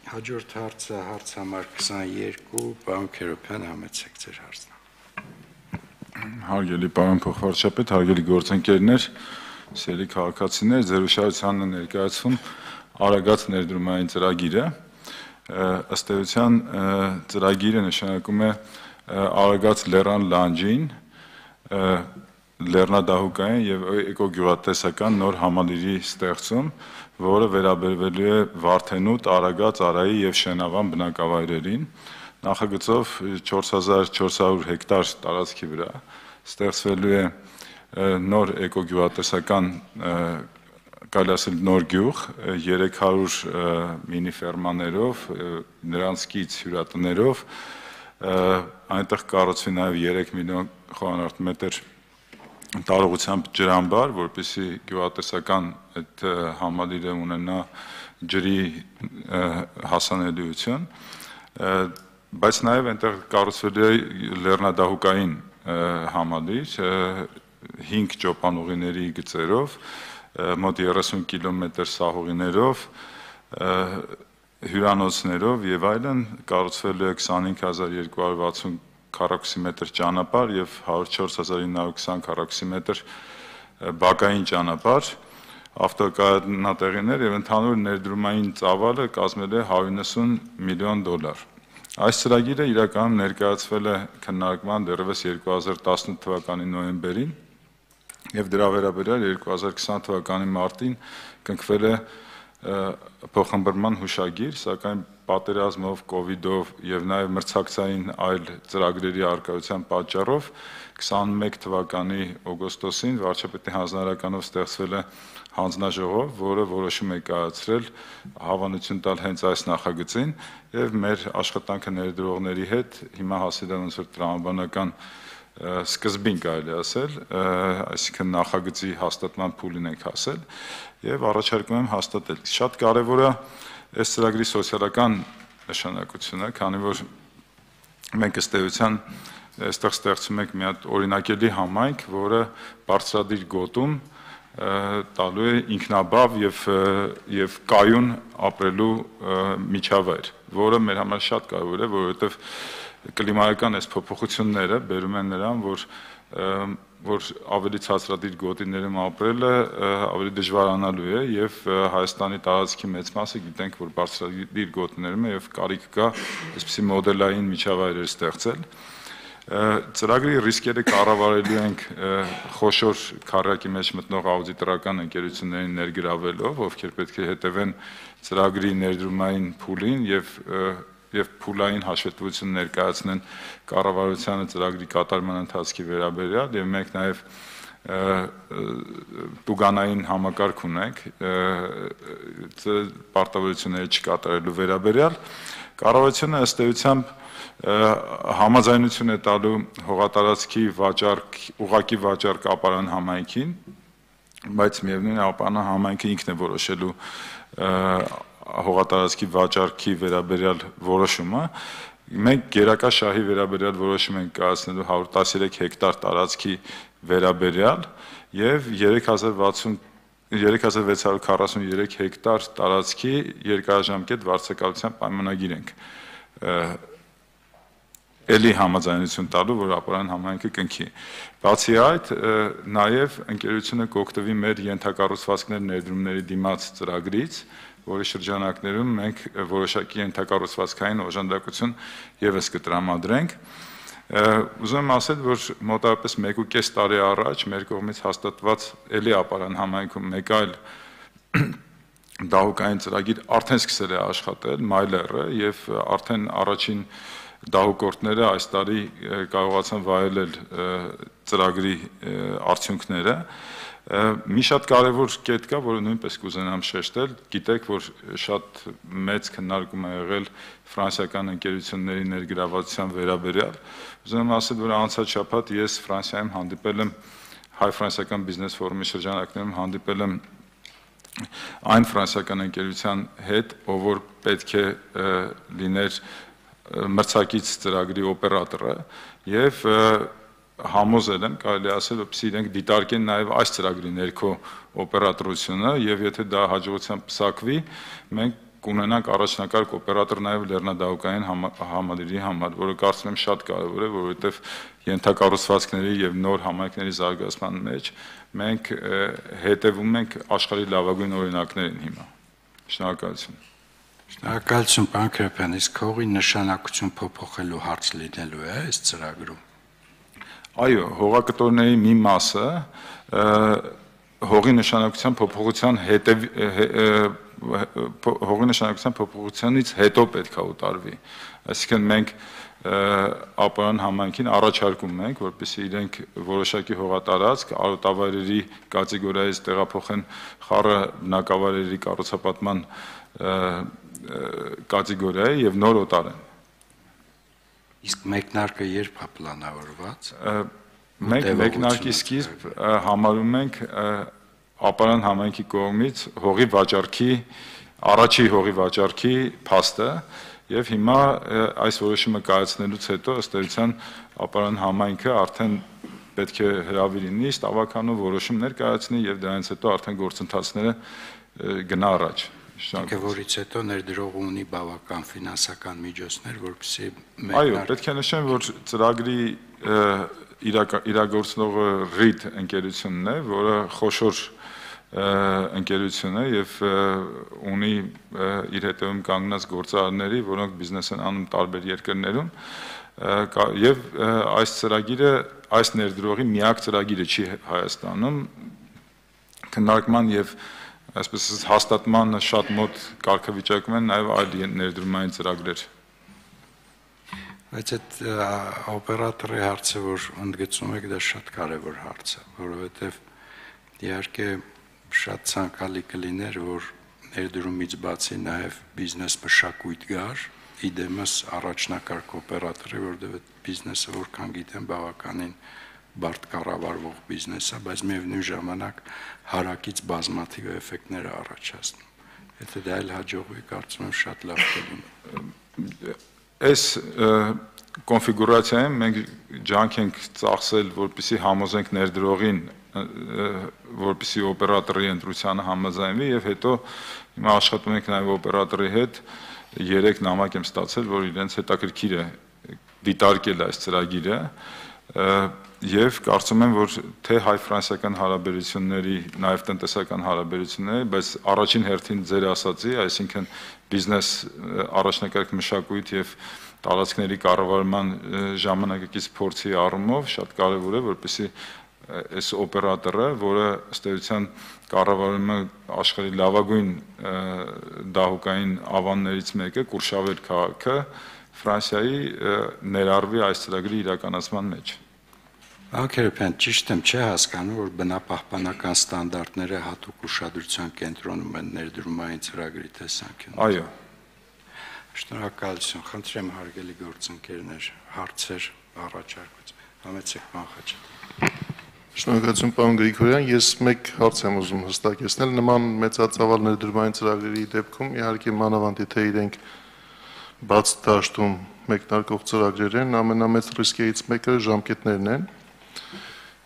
Հաջորդ հարցը հարց համար 22 պարոն Քերոբյան համեցեք ձեր հարցն։ Հարգելի պարոն փոխվարչապետ, հարգելի գործընկերներ, սիրելի քաղաքացիներ, ձեր ուշադրությանը ներկայացվում Արագած ներդրումային ծրագիրը։ Ըստ էության ծրագիրը նշանակում է Արագած լեռան լանջին լեռնադահուկային եւ էկոգյուղատնտեսական նոր համալիրի ստեղծում, որը վերաբերվելու է Վարդենուտ, Արագած, Արայի եւ Շենավան բնակավայրերին, նախագծով 4400 հեկտար տարածքի վրա ստեղծվելու է նոր էկոգյուղատնտեսական կարելի ասել նոր գյուղ 300 մինի ֆերմաներով, նրանց կից հյուրատներով, այնտեղ կառուցվի նաեւ 3 միլիոն խորանարդ մետր տարողությամբ ջրամբար, որպեսզի գյուղատնտեսական այդ համալիրը ունենա ջրի հասանելիություն, բայց նաև այնտեղ կառուցվելու է լեռնադահուկային համալիր 5 ճոպանուղիների գծերով, մոտ 30 կիլոմետր սահուղիներով, հյուրանոցներով եւ այլն, կառուցվելու է 25260 քառակուսիմետր ճանապարհ եւ 104920 քառակուսիմետր բակային ճանապարհ, ավտոկայանատեղիներ եւ ընդհանուր ներդրումային ծավալը կազմել է $190 միլիոն։ Այս ծրագիրը իրականում ներկայացվել է քննարկման դեռևս 2018 թվականի նոյեմբերին եւ դրա վերաբերյալ 2020 թվականի մարտին կնքվել է փոխհմբռնման հուշագիր, սակայն պատերազմով, կոവിഡ്ով եւ նաեւ մրցակցային այլ ծրագրերի արկայության պատճառով 21 թվականի օգոստոսին վարչապետի հանձնարարականով ստեղծվել է հանձնաժողով, որը որոշում է կայացրել հավանություն տալ հենց այս նախագծին եւ մեր աշխատանքը ներդրողների հետ հիմա հասել է ոնց որ տրամաբանական սկզբին կարելի ասել, այսինքն նախագծի հաստատման փուլին ենք հասել եւ առաջարկում եմ հաստատել։ Շատ կարեւոր է այս ծրագրի սոցիալական նշանակությունը, քանի որ մենք ըստ էության այստեղ ստեղծում ենք մի հատ օրինակելի համայնք, որը բարձրադիր գոտում տալու է ինքնաբավ եւ կայուն ապրելու միջավայր, որը մեր համար շատ կարեւոր է, որովհետեւ կլիմայական այս փոփոխությունները բերում են նրան, որ ավելի ցածրադիր գոտիներում ապրելը ավելի դժվարանալու է եւ Հայաստանի տարածքի մեծ մասը գիտենք, որ բարձրադիր գոտիներում է եւ կարիք կա այսպիսի մոդելային միջավայրեր ստեղծել։ Ծրագրի ռիսկերը կառավարելու ենք խոշոր քառակի մեջ մտնող աուդիտորական ընկերություններին ներգրավելով, ովքեր պետք է հետևեն ծրագրի ներդրումային փուլին եւ փուլային հաշվետվություն ներկայացնեն կառավարությանը ծրագրի կատարման ընթացքի վերաբերյալ եւ մենք նաեւ տուգանային համակարգ ունենք պարտավորությունները չկատարելու վերաբերյալ կառավարությունը ըստ էությամբ համաձայնություն է տալու հողատարածքի վաճառք ուղղակի վաճառք ապարան համայնքին, բայց միևնույն է ապարան համայնքը ինքն է որոշելու հողատարածքի վաճառքի վերաբերյալ որոշումը, մենք գերակա շահի վերաբերյալ որոշում ենք կայացնելու 113 հեկտար տարածքի վերաբերյալ եւ 3643 հեկտար տարածքի երկարաժամկետ վարձակալության պայմանագիր ենք էլի համաձայնություն տալու, որ ապարան համայնքը կնքի։ Բացի այդ, նաեւ ընկերությունը կօգտվի մեր ենթակառուցվածքներ ներդրումների դիմաց ծրագրից, որի շրջանակներում մենք որոշակի ենթակառուցվածքային օժանդակություն եւս կտրամադրենք։ Ուզում եմ ասել, որ մոտավորապես 1.5 տարի առաջ մեր կողմից հաստատված էլի ապարան համայնքում մեկ այլ դահուկային ծրագիր արդեն սկսել է աշխատել, Մայլերը, եւ արդեն առաջին դահուկորդները այս տարի կարողացան վայելել ծրագրի արդյունքները։ Մի շատ կարևոր կետ կա, որը նույնպես կուզենամ շեշտել, գիտեք, որ շատ մեծ քննարկում է եղել ֆրանսիական ընկերությունների ներգրավվածության վերաբերյալ։ Ուզում եմ ասել, որ անցած շաբաթ ես Ֆրանսիայում հանդիպել եմ հայ-ֆրանսիական բիզնես ֆորումի շրջանակներում հանդիպել եմ այն ֆրանսիական ընկերության հետ, ով որ պետք է լիներ մրցակից ծրագրի օպերատորը եւ համոզել եմ, կարելի ասել, որպեսզի իրենք դիտարկեն նաև այս ծրագրի ներքո օպերատորությունը եւ եթե դա հաջողությամբ պսակվի, մենք կունենանք առաջնակարգ օպերատոր նաև լեռնադահուկային համալիրի համար, որը կարծում եմ շատ կարևոր է, որովհետեւ ենթակառուցվածքների եւ նոր համայնքների զարգացման մեջ մենք հետևում ենք աշխարհի լավագույն օրինակներին հիմա։ Շնորհակալություն։ Շնորհակալություն, պարոն Քերոփյան, իսկ հողի նշանակություն փոփոխելու հարց լինելու է այս ծրագրում։ Այո, հողակտորների մի մասը հողի նշանակության փոփոխության հողի նշանակության փոփոխությունից հետո պետք է ուտարվի։ Այսինքն մենք ապարան համայնքին առաջարկում ենք, որպեսզի իրենք որոշակի հողատարածք արոտավայրերի կատեգորիայից տեղափոխեն խառը բնակավայրերի կառուցապատման կատեգորիա եւ նոր օտարեն։ Իսկ մեկնարկը երբ է պլանավորված։ Մենք մեկնարկի սկիզբ համարում ենք ապարան համայնքի կողմից հողի վաճառքի առաջի հողի վաճառքի փաստը եւ հիմա այս որոշումը կայացնելուց հետո ըստ էության ապարան համայնքը արդեն պետք է հրավիրի նիստ ավականով որոշումներ կայացնի եւ դրանից հետո արդեն գործընթացները գնա առաջ։ Որից հետո ներդրողը ունի բավական ֆինանսական միջոցներ, որպեսզի Այո, պետք է նշեմ, որ ծրագրի իրագործնողը RIT ընկերությունն է, որը խոշոր ընկերություն է եւ ունի իր հետևում կանգնած գործարարների, որոնք բիզնես են անում տարբեր երկրներում եւ այս ծրագիրը այս ներդրողի միակ ծրագիրը չի Հայաստանում քննարկման եւ այսպես հաստատման շատ մոտ կարգավիճակում են նաև այլ ներդրումային ծրագրեր։ Բայց այդ օպերատորի հարցը, որ ընդգծում եք, դա շատ կարևոր հարց է, որովհետև իհարկե շատ ցանկալի կլիներ, որ ներդրումից բացի նաև բիզնես մշակույթ գար, իդեմս առաջնակարգ օպերատորի, որտեղ այդ բիզնեսը որքան գիտեմ բավականին բարդ կառավարվող բիզնես է, բայց միևնույն ժամանակ հարակից բազմաթիվ էֆեկտներ է առաջացնում։ Եթե դա էլ հաջողվի, կարծում եմ շատ լավ կլինի։ Այս կոնֆիգուրացիայում մենք ջանք ենք ծախսել, որպեսզի համոզենք ներդրողին, որպեսզի օպերատորի ընտրությանը համաձայնվի եւ հետո հիմա աշխատում ենք նաեւ օպերատորի հետ 3 նամակ եմ ստացել, որ իրենց հետաքրքիր է դիտարկել այս ծրագիրը եւ կարծում եմ, որ թե հայ-ֆրանսիական հարաբերությունների, նաեւ տնտեսական հարաբերությունների, բայց առաջին հերթին ձեր ասացի, այսինքն բիզնես առաջնակարգ մշակույթ եւ տարածքների կառավարման ժամանակակից փորձի առումով շատ կարեւոր է, որպեսզի այս օպերատորը, որը ըստ էության կառավարում է աշխարհի լավագույն դահուկային ավաններից մեկը, Կուրշավեր քաղաքը, Ֆրանսիայի ներառվի այս ծրագրի իրականացման մեջ։ Անկերպյան, ճիշտ եմ, չէ հասկանում, որ բնապահպանական ստանդարտները հատուկ ուշադրության կենտրոնում են ներդրումային ծրագրի տեսանկյունից։ Այո։ Շնորհակալություն, խնդրեմ հարգելի գործընկերներ, հարցեր, առաջարկություն։ Համեցեք, պարոն Խաչատրյան։ Շնորհակալություն, պարոն Գրիգորյան, ես մեկ հարց եմ ուզում հստակեցնել, նման մեծածավալ ներդրումային ծրագրերի դեպքում իհարկե մանավանդ եթե իրենք բաց դաշտում մեկնարկող ծրագրեր են, ամենամեծ ռիսկերից մեկը ժամկետներն են։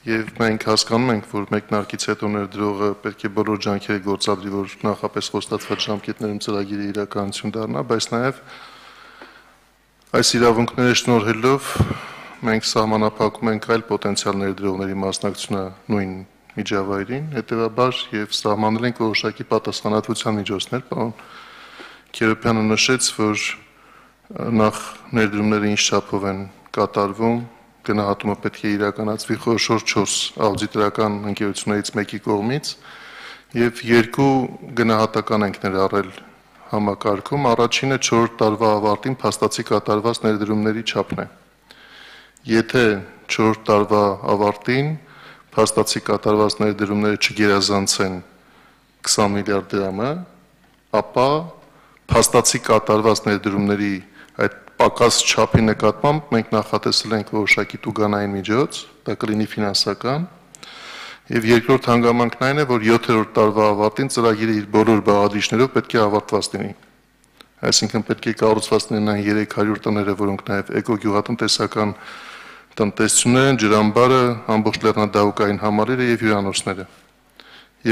Եվ մենք հասկանում ենք, որ մեկնարկից հետո ներդրողը պետք է բոլոր ջանքերը գործադրի, որ նախապես խոստացված ժամկետներում ծրագիրը իրականություն դառնա, բայց նաև այս իրավունքները շնորհելով մենք սահմանափակում ենք այլ պոտենցիալ ներդրողների մասնակցությունը նույն միջավայրին, հետևաբար եւ սահմանել ենք որոշակի պատասխանատվության միջոցներ, պարոն Քերոփյանը նշեց, որ նախ ներդրումները ինչ չափով են կատարվում, գնահատումը պետք է իրականացվի խոշոր 4 աուդիտորական ընկերություններից մեկի կողմից եւ 2 գնահատական ենք ներառել համակարգում, առաջինը 4 տարվա ավարտին փաստացի կատարված ներդրումների չափն է։ Եթե 4 տարվա ավարտին փաստացի կատարված ներդրումները չգերազանցեն 20 միլիարդ դրամը, ապա փաստացի կատարված ներդրումների այդ պակաս չափի նկատմամբ մենք նախատեսել ենք որոշակի տուգանային միջոց, դա կլինի ֆինանսական, եւ երկրորդ հանգամանքն այն է, որ 7-րդ տարվա ավարտին ծրագիրը իր բոլոր բաղադրիչներով պետք է ավարտված լինի։ Այսինքն պետք է կառուցված լինեն 300 տները, որոնք նաեւ էկոգյուղատնտեսական տնտեսությունն, ջրամբարը, ամբողջ լեռնադահուկային համալիրը եւ հյուրանոցները։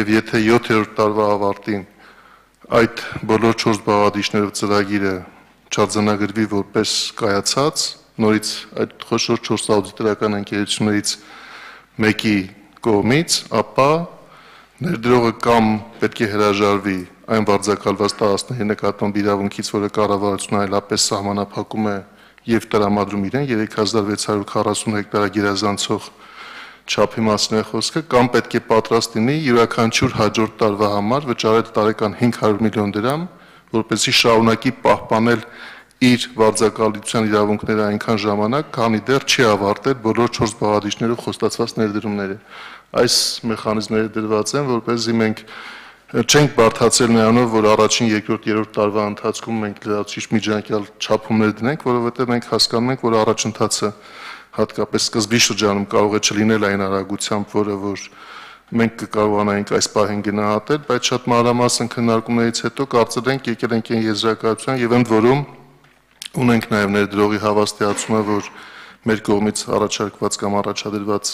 Եվ եթե 7-րդ տարվա ավարտին այդ բոլոր 4 բաղադրիչներով ծրագիրը չարձանագրվի որպես կայացած, նորից այդ խոշոր 4 աուդիտորական ընկերություններից մեկի կողմից, ապա ներդրողը կամ պետք է հրաժարվի այն վարձակալված տարածքների նկատմամբ իրավունքից, որը կառավարությունը այլապես սահմանափակում է եւ տրամադրում իրեն 3640 հեկտար գերազանցող չափի մասին է խոսքը, կամ պետք է պատրաստ լինի յուրաքանչյուր հաջորդ տարվա համար վճարել տարեկան 500 միլիոն դրամ, որպեսզի շարունակի պահպանել իր վարձակալության իրավունքները այնքան ժամանակ, քանի դեռ չի ավարտել բոլոր 4 բաղադրիչներով խոստացված ներդրումները։ Այս մեխանիզմները դրված են, որպեսզի մենք չենք բարդացել նրանով, որ առաջին, երկրորդ, երրորդ տարվա ընթացքում մենք լրացուցիչ միջանկյալ չափումներ դնենք, որովհետև մենք հասկանում ենք, որ առաջընթացը հատկապես սկզբի շրջանում կարող է չլինել այն արագությամբ, որը որ մենք կկարողանայինք այս պահին գնահատել, բայց շատ մանրամասն քննարկումներից հետո կարծել ենք եկել ենք այն եզրակացության եւ ընդ որում ունենք նաեւ ներդրողի հավաստիացումը, որ մեր կողմից առաջարկված կամ առաջադրված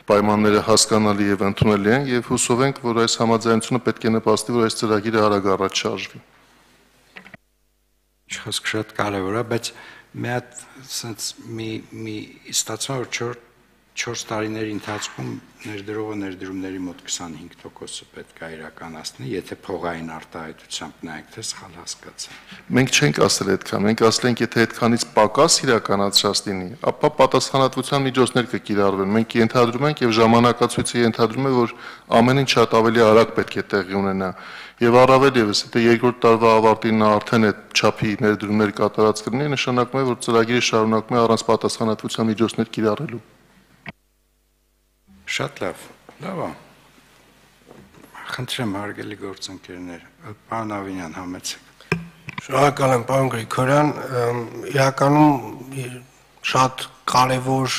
պայմանները հասկանալի եւ ընդունելի են եւ հուսով ենք, որ այս համաձայնությունը պետք է նպաստի, որ այս ծրագիրը արագ առաջ շարժվի։ Խոսքը շատ կարևոր է, բայց մի հատ sense մի ստացվում որ 4 տարիների ընթացքում ներդրողը ներդրումների մոտ 25%-ը պետք է իրականացնի, եթե փողային արտահայտությամբ նայեք, թե սխալ հասկացա։ Մենք չենք ասել այդքան, մենք ասել ենք, եթե այդքանից պակաս իրականացած լինի, ապա պատասխանատվության միջոցներ կկիրառվեն։ Մենք ենթադրում ենք եւ ժամանակացույցը ենթադրում է, որ ամեն ինչ շատ ավելի արագ պետք է տեղի ունենա։ Եվ առավել եւս, եթե երկրորդ տարվա ավարտին նա արդեն այդ չափի ներդրումներ կատարած կլինի, նշանակում է, որ ծրագիրը շարունակում է առանց պատասխանատվության միջոցներ կիրառելու։ Շատ լավ, լավ է։ Խնդրեմ հարգելի գործընկերներ, պարոն Ավինյան, համեցեք։ Շնորհակալ եմ, պարոն Գրիգորյան, իրականում շատ կարևոր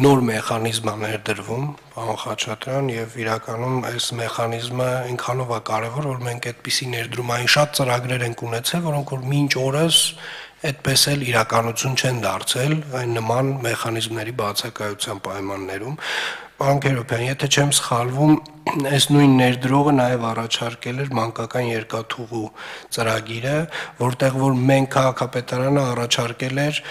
նոր մեխանիզմ է ներդրվում, պարոն Խաչատրյան, եւ իրականում այս մեխանիզմը ինքանով է կարևոր, որ մենք այդպիսի ներդրումային շատ ծրագրեր ենք ունեցել, որոնք որ մինչ օրս այդպես էլ իրականություն չեն դարձել այն նման մեխանիզմների բացակայության պայմաններում։ Պարոն Քերոբյան, եթե չեմ սխալվում, այս նույն ներդրողը նաև առաջարկել էր մանկական երկաթուղու ծրագիրը, որտեղ որ մենք քաղաքապետարանը առաջարկել էր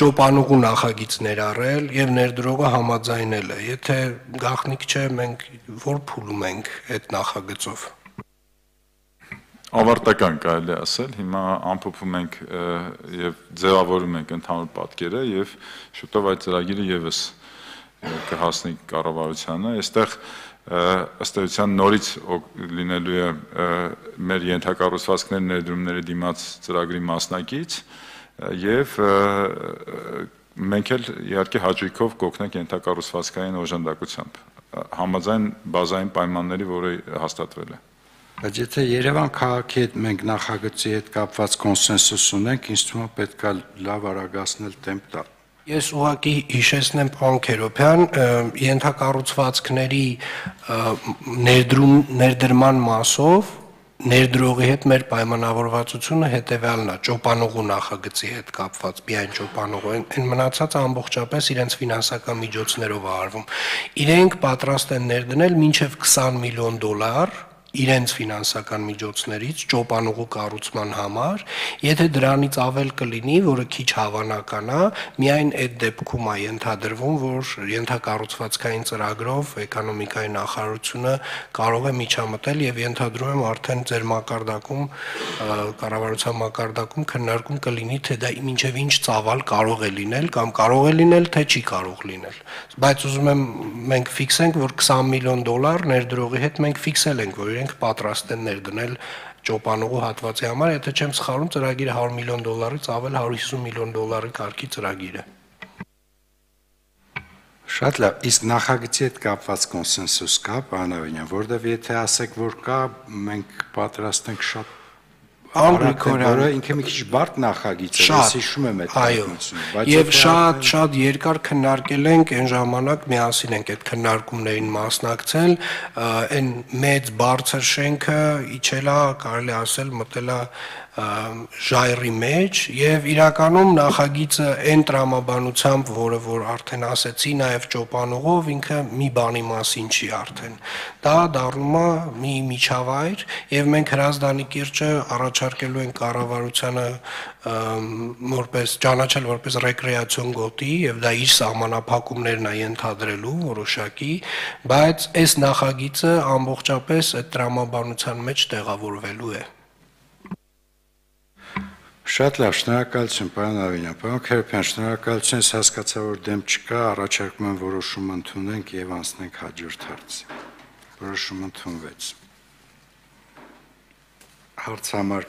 ճոպանուղու նախագիծ ներառել եւ ներդրողը համաձայնել է։ Եթե գաղտնիք չէ, մենք որ փուլում ենք այդ նախագծով։ Ավարտական կարելի ասել, հիմա ամփոփում ենք եւ ձևավորում ենք ընդհանուր պատկերը եւ շուտով այդ ծրագիրը եւս կհասնի կառավարությանը, այստեղ ըստ էության նորից լինելու է մեր ենթակառուցվածքներ ներդրումների դիմաց ծրագրի մասնակից եւ մենք էլ իհարկե հաճույքով կօգնենք ենթակառուցվածքային օժանդակությամբ համաձայն բազային պայմանների, որը հաստատվել է։ Բայց եթե Երևան քաղաքի հետ մենք նախագծի հետ կապված կոնսենսուս ունենք, ինձ թվում է պետք է լավ արագացնել տեմպ տալ։ Ես ուղղակի հիշեցնեմ պարոն Քերոբյան, ենթակառուցվածքների ներդրման մասով ներդրողի հետ մեր պայմանավորվածությունը հետևյալն է, ճոպանուղու նախագծի հետ կապված, միայն ճոպանուղու, այն մնացածը ամբողջապես իրենց ֆինանսական միջոցներով է արվում։ Իրենք պատրաստ են ներդնել մինչև $20 միլիոն իրենց ֆինանսական միջոցներից ճոպանուղու կառուցման համար, եթե դրանից ավել կլինի, որը քիչ հավանական է, միայն այդ դեպքում է ենթադրվում, որ ենթակառուցվածքային ծրագրով էկոնոմիկայի նախարարությունը կարող է միջամտել եւ ենթադրում եմ արդեն ձեր մակարդակում կառավարության մակարդակում քննարկում կլինի, թե դա մինչեւ ինչ ծավալ կարող է լինել կամ կարող է լինել, թե չի կարող լինել։ Բայց ուզում եմ մենք ֆիքսենք, որ $20 միլիոն ներդրողի հետ մենք ֆիքսել ենք, որ պատրաստ են ներդնել ճոպանուղու հատվածի համար, եթե չեմ սխալվում, ծրագիրը $100 միլիոնից ավել $150 միլիոն կարգի ծրագիր է։ Շատ լավ, իսկ նախագծի հետ կապված կոնսենսուս կա, պարոն Ավինյան, որտեղ եթե ասեք, որ կա, մենք պատրաստ ենք շատ որը ինքը մի քիչ բարդ նախագիծ է, ես հիշում եմ այդ պատմությունը, բայց եւ շատ երկար քննարկել ենք այն ժամանակ, միասին ենք այդ քննարկումներին մասնակցել, այն մեծ բարձր շենքը իջելա, կարելի ասել, մտելա ժայռի մեջ եւ իրականում նախագիծը այն տրամաբանությամբ, որը որ արդեն ասեցի, նաեւ ճոպանուղով ինքը մի բանի մասին չի արդեն։ Դա դառնում է մի միջավայր եւ մենք Հրազդանի կիրճը առաջարկելու ենք կառավարությանը որպես ճանաչել որպես ռեկրեացիոն գոտի եւ դա իր սահմանափակումներն է ենթադրելու որոշակի, բայց այս նախագիծը ամբողջապես այդ տրամաբանության մեջ տեղավորվելու է։ Շատ լավ, շնորհակալություն, պարոն Ավինյան, պարոն Քերոբյան, շնորհակալություն, ես հասկացա, որ դեմ չկա, առաջարկում եմ որոշում ընդունենք եւ անցնենք հաջորդ հարցի։ Որոշում ընդունվեց։ Հարց համար